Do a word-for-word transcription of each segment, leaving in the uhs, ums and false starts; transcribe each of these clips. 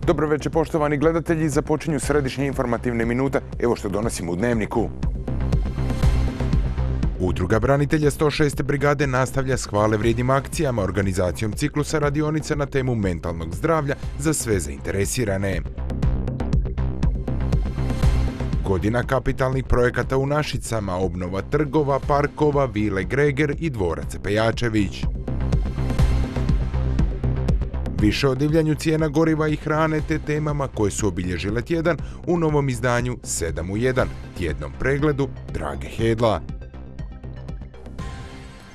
Dobro večer, poštovani gledatelji, započinju središnje informativne minute. Evo što donosimo u dnevniku. Udruga branitelja sto šeste brigade nastavlja s hvale vrijednim akcijama organizacijom ciklusa radionica na temu mentalnog zdravlja za sve zainteresirane. Godina kapitalnih projekata u Našicama, obnova trgova, parkova, vile Greger i dvorac Pejačević. Više o divljanju cijena goriva i hrane te temama koje su obilježile tjedan u novom izdanju sedam u jedan, tjednom pregledu Drage Hedla.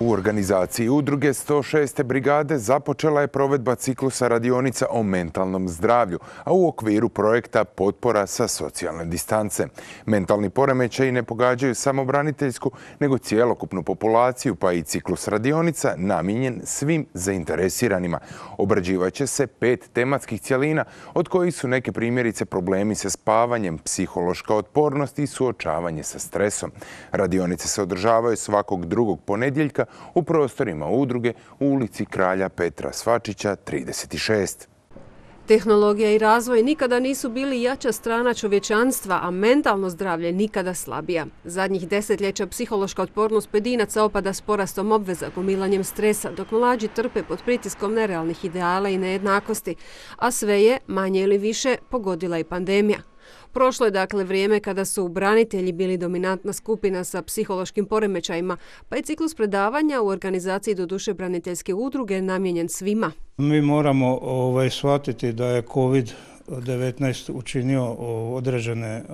U organizaciji udruge sto šeste brigade započela je provedba ciklusa radionica o mentalnom zdravlju, a u okviru projekta Potpora sa socijalne distance. Mentalni poremećaji ne pogađaju samo braniteljsku, nego cjelokupnu populaciju, pa i ciklus radionica namijenjen svim zainteresiranima. Obrađivat će se pet tematskih cjelina, od kojih su neke primjerice problemi sa spavanjem, psihološka otpornost i suočavanje sa stresom. Radionice se održavaju svakog drugog ponedjeljka u prostorima udruge u ulici Kralja Petra Svačića trideset šest. Tehnologija i razvoj nikada nisu bili jača strana čovječanstva, a mentalno zdravlje nikada slabija. Zadnjih desetljeća psihološka otpornost pojedinaca opada s porastom obveza, gomilanjem stresa, dok mlađi trpe pod pritiskom nerealnih ideala i nejednakosti, a sve je, manje ili više, pogodila i pandemija. Prošlo je dakle vrijeme kada su branitelji bili dominantna skupina sa psihološkim poremećajima, pa je ciklus predavanja u organizaciji doduše braniteljske udruge namijenjen svima. Mi moramo ovaj, shvatiti da je kovid devetnaest učinio određene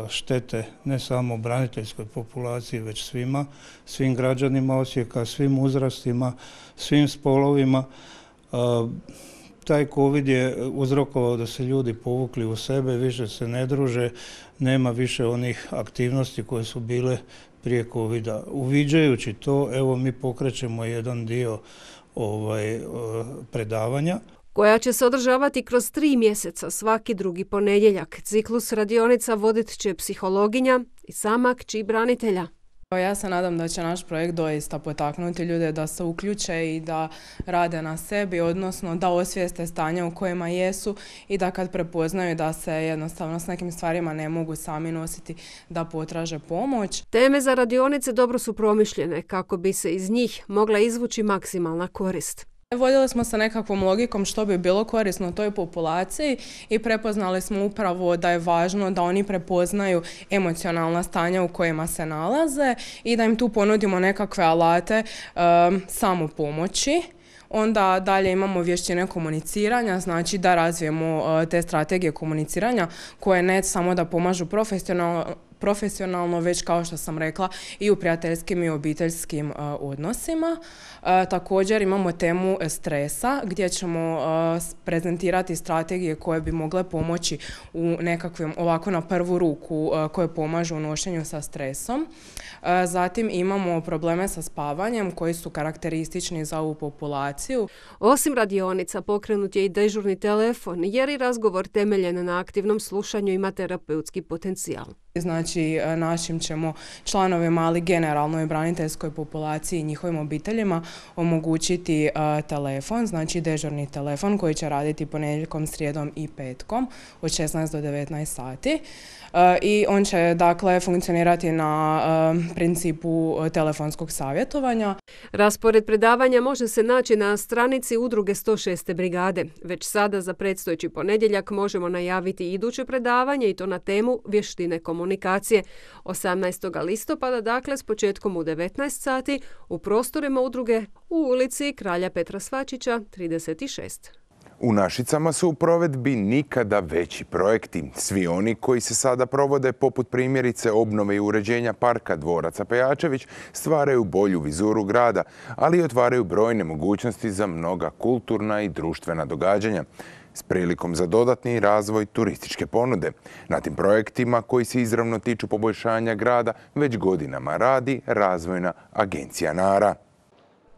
štete ne samo braniteljskoj populaciji, već svima, svim građanima Osijeka, svim uzrastima, svim spolovima. Taj kovid je uzrokovao da se ljudi povukli u sebe, više se ne druže, nema više onih aktivnosti koje su bile prije kovida. Uviđajući to, evo mi pokrećemo jedan dio ovaj, predavanja. Koja će se održavati kroz tri mjeseca svaki drugi ponedjeljak. Ciklus radionica vodit će psihologinja i sama kći branitelja. Ja se nadam da će naš projekt doista potaknuti ljude da se uključe i da rade na sebi, odnosno da osvijeste stanje u kojima jesu i da kad prepoznaju da se jednostavno s nekim stvarima ne mogu sami nositi, da potraže pomoć. Teme za radionice dobro su promišljene kako bi se iz njih mogla izvući maksimalna korist. Vodili smo se nekakvom logikom što bi bilo korisno toj populaciji i prepoznali smo upravo da je važno da oni prepoznaju emocionalna stanja u kojima se nalaze i da im tu ponudimo nekakve alate um, samopomoći. Onda dalje imamo vještine komuniciranja, znači da razvijemo uh, te strategije komuniciranja koje ne samo da pomažu profesionalno, profesionalno, već kao što sam rekla i u prijateljskim i obiteljskim uh, odnosima. Uh, također imamo temu stresa gdje ćemo uh, prezentirati strategije koje bi mogle pomoći u nekakvim, ovako na prvu ruku, uh, koje pomažu u nošenju sa stresom. Uh, zatim imamo probleme sa spavanjem koji su karakteristični za ovu populaciju. Osim radionica pokrenut je i dežurni telefon jer i razgovor temeljen na aktivnom slušanju ima terapeutski potencijal. Znači, našim ćemo članovima, ali generalno i braniteljskoj populaciji i njihovim obiteljima omogućiti uh, telefon, znači dežurni telefon koji će raditi ponedjeljkom, srijedom i petkom od šesnaest do devetnaest sati. Uh, I on će dakle funkcionirati na uh, principu telefonskog savjetovanja. Raspored predavanja može se naći na stranici udruge sto šeste brigade. Već sada za predstojeći ponedjeljak možemo najaviti iduće predavanje i to na temu vještine komunikacije. osamnaestog listopada, dakle s početkom u devetnaest sati u prostorima udruge u ulici Kralja Petra Svačića trideset šest. U Našicama su u provedbi nikada veći projekti. Svi oni koji se sada provode, poput primjerice obnove i uređenja parka dvoraca Pejačević, stvaraju bolju vizuru grada, ali i otvaraju brojne mogućnosti za mnoga kulturna i društvena događanja, s prilikom za dodatni razvoj turističke ponude. Na tim projektima koji se izravno tiču poboljšanja grada već godinama radi Razvojna agencija Nara.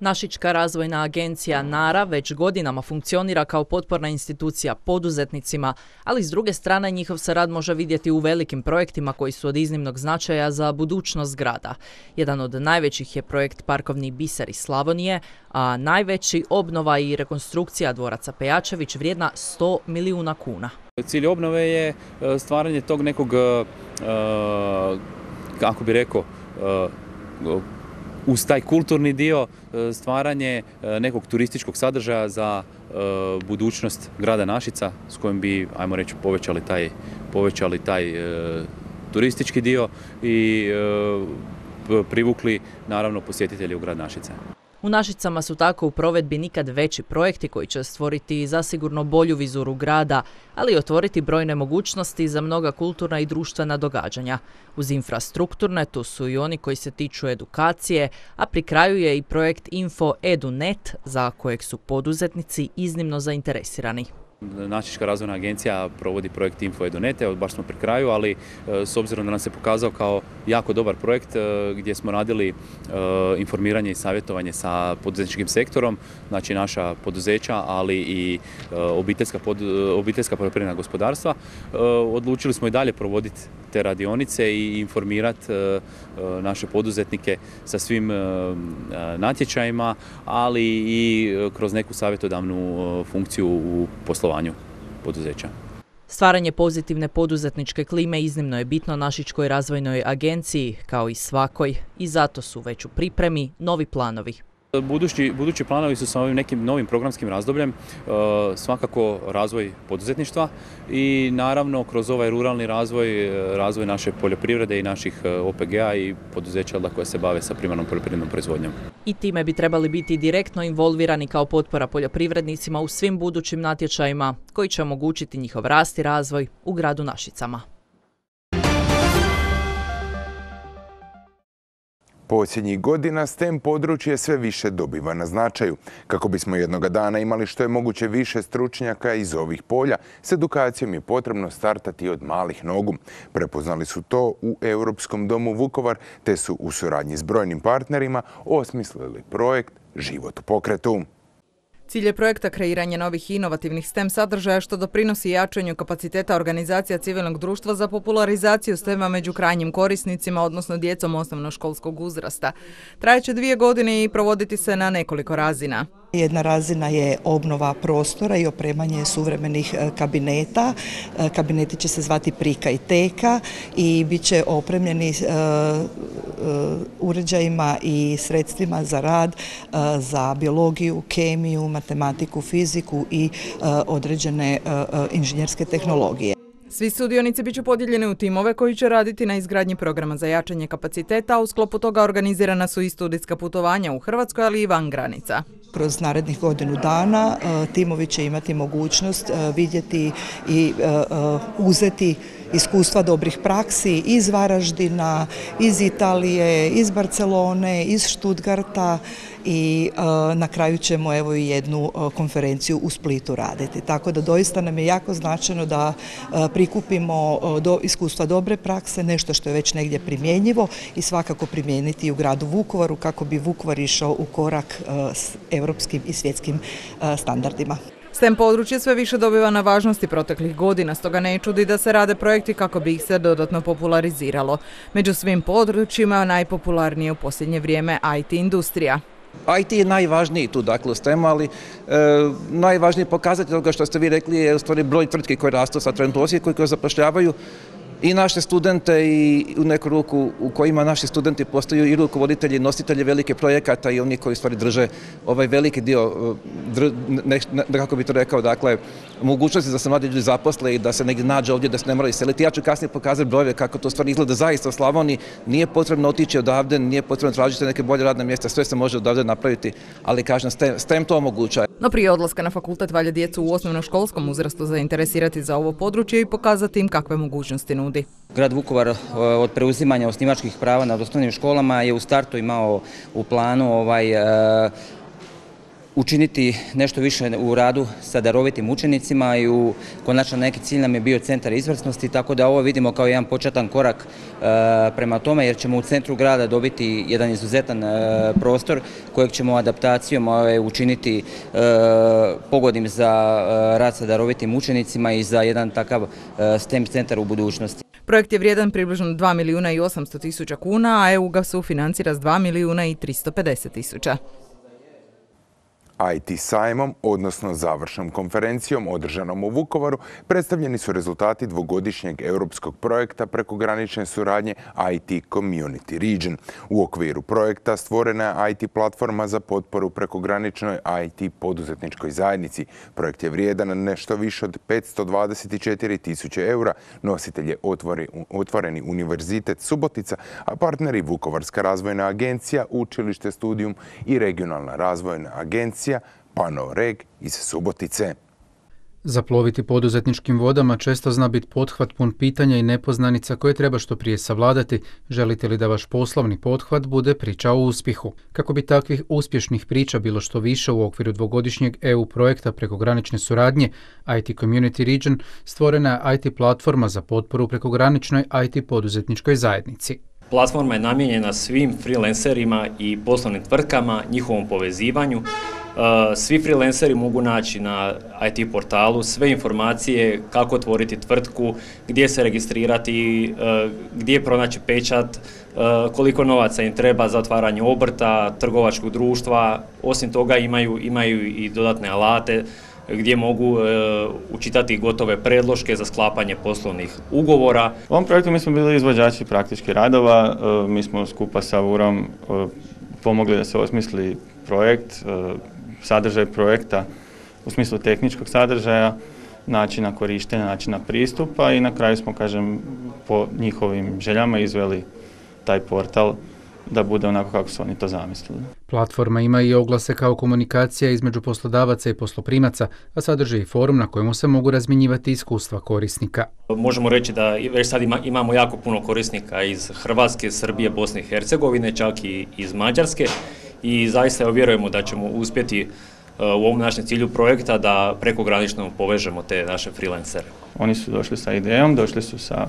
Našička razvojna agencija NARA već godinama funkcionira kao potporna institucija poduzetnicima, ali s druge strane njihov se rad može vidjeti u velikim projektima koji su od iznimnog značaja za budućnost grada. Jedan od najvećih je projekt Parkovni biser iz Slavonije, a najveći obnova i rekonstrukcija dvoraca Pejačević vrijedna sto milijuna kuna. Cilj obnove je stvaranje tog nekog, kako bi rekao, uz taj kulturni dio stvaranje nekog turističkog sadržaja za budućnost grada Našica s kojim bi, ajmo reći, povećali taj, povećali taj turistički dio i privukli naravno posjetitelje u grad Našice. U Našicama su tako u provedbi nikad veći projekti koji će stvoriti zasigurno bolju vizuru grada, ali i otvoriti brojne mogućnosti za mnoga kulturna i društvena događanja. Uz infrastrukturne tu su i oni koji se tiču edukacije, a pri kraju je i projekt Info Edu Net za kojeg su poduzetnici iznimno zainteresirani. Našička razvojna agencija provodi projekt Info Edu Net, evo baš smo pri kraju, ali s obzirom da nam se pokazao kao jako dobar projekt gdje smo radili informiranje i savjetovanje sa poduzetničkim sektorom, znači naša poduzeća, ali i obiteljska, pod, obiteljska poljoprivredna gospodarstva, odlučili smo i dalje provoditi te radionice i informirati naše poduzetnike sa svim natječajima, ali i kroz neku savjetodavnu funkciju u poslovanju poduzeća. Stvaranje pozitivne poduzetničke klime iznimno je bitno Našičkoj razvojnoj agenciji, kao i svakoj, i zato su već u pripremi novi planovi. Budući, budući planovi su sa ovim nekim novim programskim razdobljem, svakako razvoj poduzetništva i naravno kroz ovaj ruralni razvoj, razvoj naše poljoprivrede i naših O P G-a i poduzeća koja se bave sa primarnom poljoprivrednom proizvodnjom. I time bi trebali biti direktno involvirani kao potpora poljoprivrednicima u svim budućim natječajima koji će omogućiti njihov rast i razvoj u gradu Našicama. Posljednjih godina STEM područje sve više dobiva na značaju. Kako bismo jednoga dana imali što je moguće više stručnjaka iz ovih polja, s edukacijom je potrebno startati od malih nogu. Prepoznali su to u Europskom domu Vukovar, te su u suradnji s brojnim partnerima osmislili projekt Život u pokretu. Cilj je projekta kreiranje novih i inovativnih STEM sadržaja što doprinosi jačanju kapaciteta organizacija civilnog društva za popularizaciju STEM-a među krajnjim korisnicima, odnosno djecom osnovnoškolskog uzrasta. Trajeće dvije godine i provoditi se na nekoliko razina. Jedna razina je obnova prostora i opremanje suvremenih kabineta. Kabineti će se zvati Prika i Teka i bit će opremljeni uređajima i sredstvima za rad, za biologiju, kemiju, matematiku, fiziku i određene inženjerske tehnologije. Svi sudionici bit će podijeljeni u timove koji će raditi na izgradnji programa za jačanje kapaciteta, a u sklopu toga organizirana su i studijska putovanja u Hrvatskoj, ali i van granica. Kroz narednih godinu dana timovi će imati mogućnost vidjeti i uzeti iskustva dobrih praksi iz Varaždina, iz Italije, iz Barcelone, iz Stuttgarta i na kraju ćemo evo i jednu konferenciju u Splitu raditi. Tako da doista nam je jako značajno da prikupimo do iskustva dobre prakse, nešto što je već negdje primjenjivo i svakako primijeniti i u gradu Vukovaru kako bi Vukovar išao u korak s europskim i svjetskim standardima. STEM područje sve više dobiva na važnosti proteklih godina, stoga ne čudi da se rade projekti kako bi ih se dodatno populariziralo. Među svim područjima najpopularnije u posljednje vrijeme I T industrija. I T je najvažniji tu, dakle, u STEM-u, ali e, najvažniji pokazatelj toga što ste vi rekli je u stvari broj tvrtki koje rastu sa trenutno u Osijeku koji zapošljavaju i naše studente i u neku ruku u kojima naši studenti postaju i rukovoditelji, nositelji velike projekata i oni koji stvari drže ovaj veliki dio, dr, ne, ne, kako bi to rekao, dakle, mogućnosti da se mladi ljudi zaposle i da se negdje nađe ovdje, da se ne moraju iseliti. Ja ću kasnije pokazati brojeve kako to stvari izgleda zaista u Slavoniji. Nije potrebno otići odavde, nije potrebno tražiti neke bolje radne mjesta, sve se može odavde napraviti, ali kažem, STEM, STEM to omogućava. No prije odlaska na fakultet valja djecu u osnovnoškolskom uzrastu zainteresirati za ovo područje i pokazati im kakve mogućnosti nudi. Grad Vukovar od preuzimanja osnivačkih prava nad osnovnim školama je u startu imao u planu ovaj, učiniti nešto više u radu sa darovitim učenicima i u konačno neki cilj nam je bio centar izvrsnosti, tako da ovo vidimo kao jedan početan korak prema tome, jer ćemo u centru grada dobiti jedan izuzetan prostor kojeg ćemo adaptacijom učiniti pogodnim za rad sa darovitim učenicima i za jedan takav STEM centar u budućnosti. Projekt je vrijedan približno dva milijuna i osamsto tisuća kuna, a E U ga sufinancira s dva milijuna i tristo pedeset tisuća. I T sajmom, odnosno završnom konferencijom održanom u Vukovaru, predstavljeni su rezultati dvogodišnjeg europskog projekta prekogranične suradnje I T Community Region. U okviru projekta stvorena je I T platforma za potporu prekograničnoj I T poduzetničkoj zajednici. Projekt je vrijedan nešto više od petsto dvadeset četiri tisuće eura. Nositelj je otvoreni univerzitet Subotica, a partneri Vukovarska razvojna agencija, Učilište Studijum i Regionalna razvojna agencija Panoreg iz Subotice. Zaploviti poduzetničkim vodama često zna biti pothvat pun pitanja i nepoznanica koje treba što prije savladati. Želite li da vaš poslovni pothvat bude priča o uspjehu? Kako bi takvih uspješnih priča bilo što više u okviru dvogodišnjeg E U projekta prekogranične suradnje I T Community Region, stvorena je I T platforma za potporu prekograničnoj I T poduzetničkoj zajednici. Platforma je namijenjena svim freelancerima i poslovnim tvrtkama, njihovom povezivanju. Svi freelanceri mogu naći na I T portalu sve informacije kako otvoriti tvrtku, gdje se registrirati, gdje pronaći pečat, koliko novaca im treba za otvaranje obrta, trgovačkog društva. Osim toga imaju, imaju i dodatne alate gdje mogu e, učitati gotove predloške za sklapanje poslovnih ugovora. U ovom projektu mi smo bili izvođači praktičkih radova, e, mi smo skupa sa U R om e, pomogli da se osmisli projekt, e, sadržaj projekta u smislu tehničkog sadržaja, načina korištenja, načina pristupa i na kraju smo, kažem, po njihovim željama izveli taj portal da bude onako kako su oni to zamislili. Platforma ima i oglase kao komunikacija između poslodavaca i posloprimaca, a sadrži i forum na kojemu se mogu razmjenjivati iskustva korisnika. Možemo reći da već sad ima, imamo jako puno korisnika iz Hrvatske, Srbije, Bosne i Hercegovine, čak i iz Mađarske i zaista vjerujemo da ćemo uspjeti u ovom našem cilju projekta da prekogranično povežemo te naše freelancere. Oni su došli sa idejom, došli su sa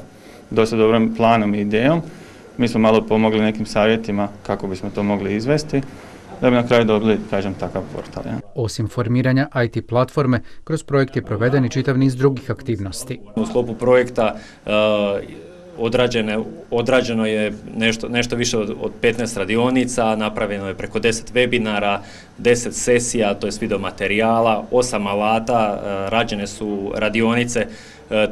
dosta dobrim planom i idejom. Mi smo malo pomogli nekim savjetima kako bismo to mogli izvesti, da bi na kraju dobili, kažem, takav portal. Ja. Osim formiranja I T platforme, kroz projekt je proveden i čitav niz drugih aktivnosti. U sklopu projekta uh, odrađene, odrađeno je nešto, nešto više od, od petnaest radionica, napravljeno je preko deset webinara, deset sesija, to je video materijala, osam alata, uh, rađene su radionice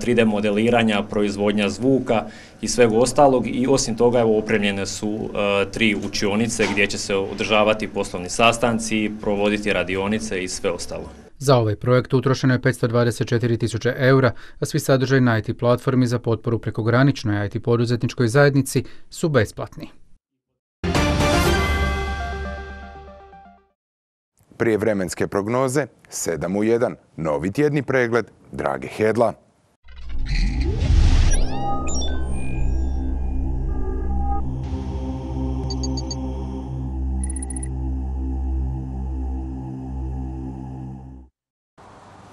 tri D modeliranja, proizvodnja zvuka i svega ostalog i osim toga evo, opremljene su uh, tri učionice gdje će se održavati poslovni sastanci, provoditi radionice i sve ostalo. Za ovaj projekt utrošeno je petsto dvadeset četiri tisuće eura, a svi sadržaj na I T platformi za potporu prekograničnoj I T poduzetničkoj zajednici su besplatni. Prije vremenske prognoze, sedam u jedan, novi tjedni pregled Drage Hedla.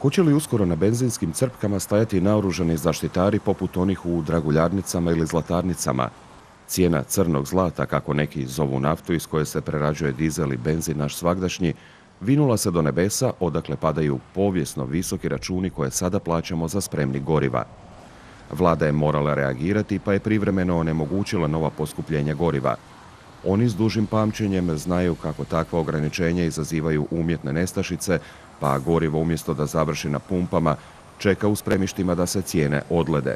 Hoće li uskoro na benzinskim crpkama stajati naoružani zaštitari poput onih u draguljarnicama ili zlatarnicama? Cijena crnog zlata, kako neki zovu naftu iz koje se prerađuje dizel i benzin naš svagdašnji, vinula se do nebesa odakle padaju povijesno visoki računi koje sada plaćamo za spremnik goriva. Vlada je morala reagirati pa je privremeno onemogućila nova poskupljenja goriva. Oni s dužim pamćenjem znaju kako takva ograničenja izazivaju umjetne nestašice, pa gorivo umjesto da završi na pumpama, čeka u spremištima da se cijene odlede.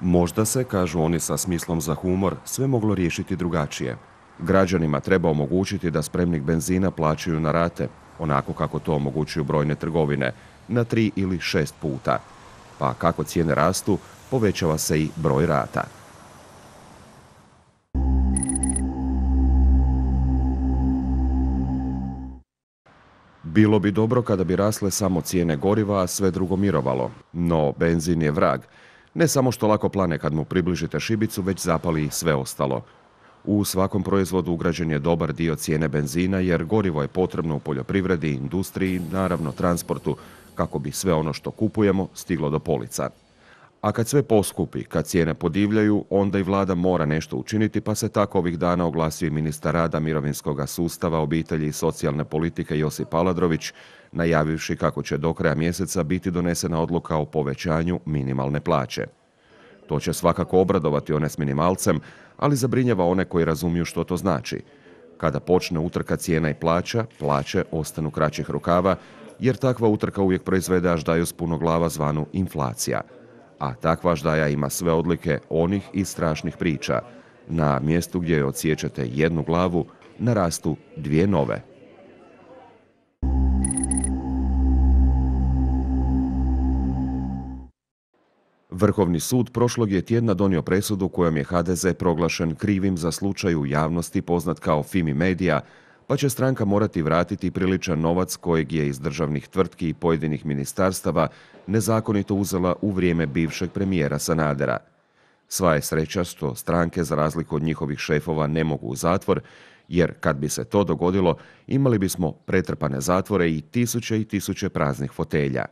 Možda se, kažu oni sa smislom za humor, sve moglo riješiti drugačije. Građanima treba omogućiti da spremnik benzina plaćaju na rate, onako kako to omogućuju brojne trgovine, na tri ili šest puta. Pa kako cijene rastu, povećava se i broj rata. Bilo bi dobro kada bi rasle samo cijene goriva, a sve drugo mirovalo. No, benzin je vrag. Ne samo što lako plane kad mu približite šibicu, već zapali i sve ostalo. U svakom proizvodu ugrađen je dobar dio cijene benzina jer gorivo je potrebno u poljoprivredi, industriji i naravno transportu kako bi sve ono što kupujemo stiglo do polica. A kad sve poskupi, kad cijene podivljaju, onda i vlada mora nešto učiniti, pa se tako ovih dana oglasio i ministar rada, mirovinskog sustava, obitelji i socijalne politike Josip Aladrović, najavivši kako će do kraja mjeseca biti donesena odluka o povećanju minimalne plaće. To će svakako obradovati one s minimalcem, ali zabrinjava one koji razumiju što to znači. Kada počne utrka cijena i plaća, plaće ostanu kraćih rukava, jer takva utrka uvijek proizvede aždaju s puno glava zvanu inflacija. A takva aždaja ima sve odlike onih i strašnih priča. Na mjestu gdje odsiječete jednu glavu, narastu dvije nove. Vrhovni sud prošlog je tjedna donio presudu kojom je ha de ze proglašen krivim za slučaj u javnosti poznat kao Fimi Media, pa će stranka morati vratiti priličan novac kojeg je iz državnih tvrtki i pojedinih ministarstava nezakonito uzela u vrijeme bivšeg premijera Sanadera. Sva je sreća što stranke, za razliku od njihovih šefova, ne mogu u zatvor, jer kad bi se to dogodilo, imali bismo pretrpane zatvore i tisuće i tisuće praznih fotelja.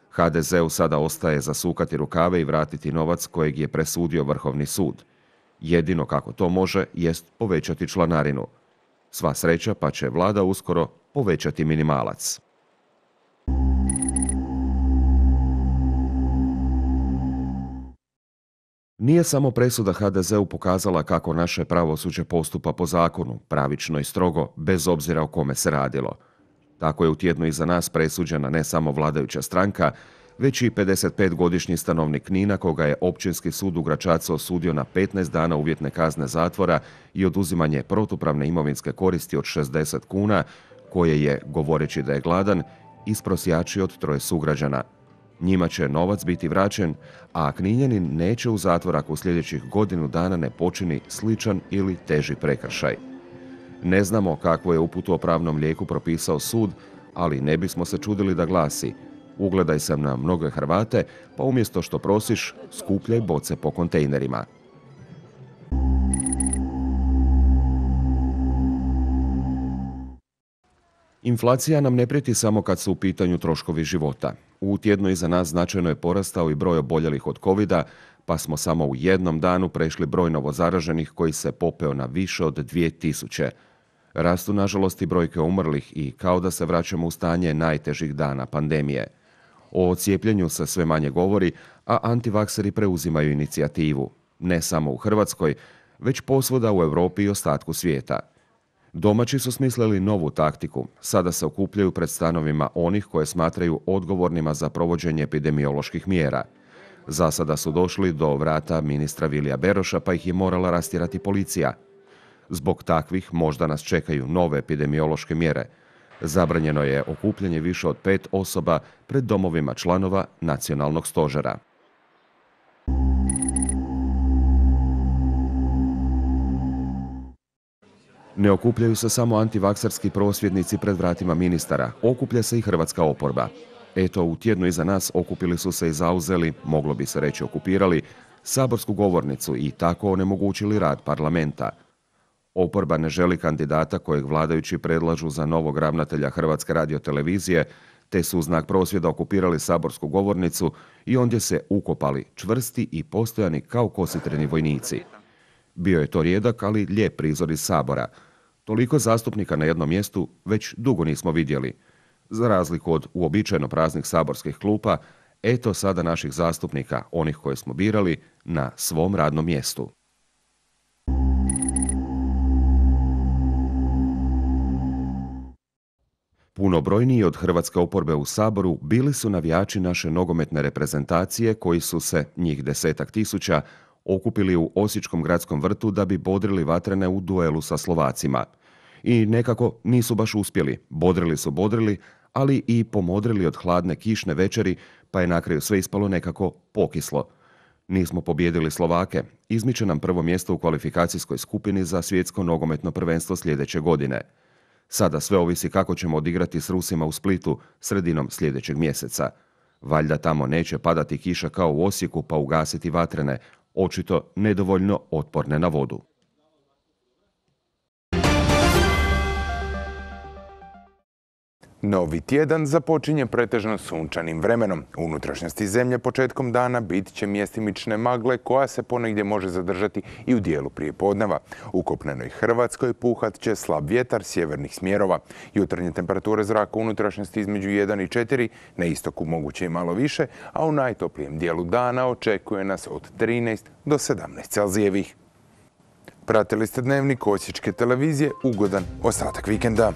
ha de zeu sada ostaje zasukati rukave i vratiti novac kojeg je presudio Vrhovni sud. Jedino kako to može jest povećati članarinu. Sva sreća pa će vlada uskoro povećati minimalac. Nije samo presuda ha de zeu pokazala kako naše pravosuđe postupa po zakonu, pravično i strogo, bez obzira o kome se radilo. Tako je u tjednu iza nas presuđena ne samo vladajuća stranka, već i pedesetpetogodišnji stanovnik Knina koga je Općinski sud u Gračacu osudio na petnaest dana uvjetne kazne zatvora i oduzimanje protupravne imovinske koristi od šezdeset kuna, koje je, govoreći da je gladan, isprosjačio od troje sugrađana. Njima će novac biti vraćen, a Kninjanin neće u zatvor ako u sljedećih godinu dana ne počini sličan ili teži prekršaj. Ne znamo kakvu je uputu o pravnom lijeku propisao sud, ali ne bismo se čudili da glasi: ugledaj se na mnoge Hrvate, pa umjesto što prosiš, skupljaj boce po kontejnerima. Inflacija nam ne prijeti samo kad su u pitanju troškovi života. U tjednu iza nas značajno je porastao i broj oboljelih od kovida, pa smo samo u jednom danu prešli broj novozaraženih koji se popeo na više od dvije tisuće. Rastu nažalost i brojke umrlih i kao da se vraćamo u stanje najtežih dana pandemije. O cijepljenju se sve manje govori, a antivakseri preuzimaju inicijativu. Ne samo u Hrvatskoj, već posvuda u Europi i ostatku svijeta. Domaći su smislili novu taktiku. Sada se okupljaju pred stanovima onih koje smatraju odgovornima za provođenje epidemioloških mjera. Za sada su došli do vrata ministra Vilija Beroša, pa ih je morala rastjerati policija. Zbog takvih možda nas čekaju nove epidemiološke mjere. Zabranjeno je okupljanje više od pet osoba pred domovima članova nacionalnog stožera. Ne okupljaju se samo antivakserski prosvjednici pred vratima ministara, okuplja se i hrvatska oporba. Eto, u tjednu iza nas okupili su se i zauzeli, moglo bi se reći okupirali, saborsku govornicu i tako onemogućili rad parlamenta. Oporba ne želi kandidata kojeg vladajući predlažu za novog ravnatelja Hrvatske radiotelevizije, te su u znak prosvjeda okupirali saborsku govornicu i ondje se ukopali čvrsti i postojani kao kositreni vojnici. Bio je to rijedak, ali lijep prizor iz Sabora. Toliko zastupnika na jednom mjestu već dugo nismo vidjeli. Za razliku od uobičajeno praznih saborskih klupa, eto sada naših zastupnika, onih koje smo birali, na svom radnom mjestu. Punobrojniji od hrvatske oporbe u Saboru bili su navijači naše nogometne reprezentacije koji su se, njih desetak tisuća, okupili u Osječkom gradskom vrtu da bi bodrili vatrene u duelu sa Slovacima. I nekako nisu baš uspjeli. Bodrili su bodrili, ali i pomodrili od hladne kišne večeri, pa je na kraju sve ispalo nekako pokislo. Nismo pobijedili Slovake. Izmiče nam prvo mjesto u kvalifikacijskoj skupini za svjetsko nogometno prvenstvo sljedeće godine. Sada sve ovisi kako ćemo odigrati s Rusima u Splitu sredinom sljedećeg mjeseca. Valjda tamo neće padati kiša kao u Osijeku pa ugasiti vatrene, očito nedovoljno otporne na vodu. Novi tjedan započinje pretežno sunčanim vremenom. U unutrašnjosti zemlje početkom dana bit će mjestimične magle koja se ponegdje može zadržati i u dijelu prijepodneva. U kopnenoj Hrvatskoj puhat će slab vjetar sjevernih smjerova. Jutarnje temperature zraka u unutrašnjosti između jedan i četiri, na istoku moguće i malo više, a u najtoplijem dijelu dana očekuje nas od trinaest do sedamnaest Celzijevih. Pratili ste Dnevnik Osječke televizije, ugodan ostatak vikenda.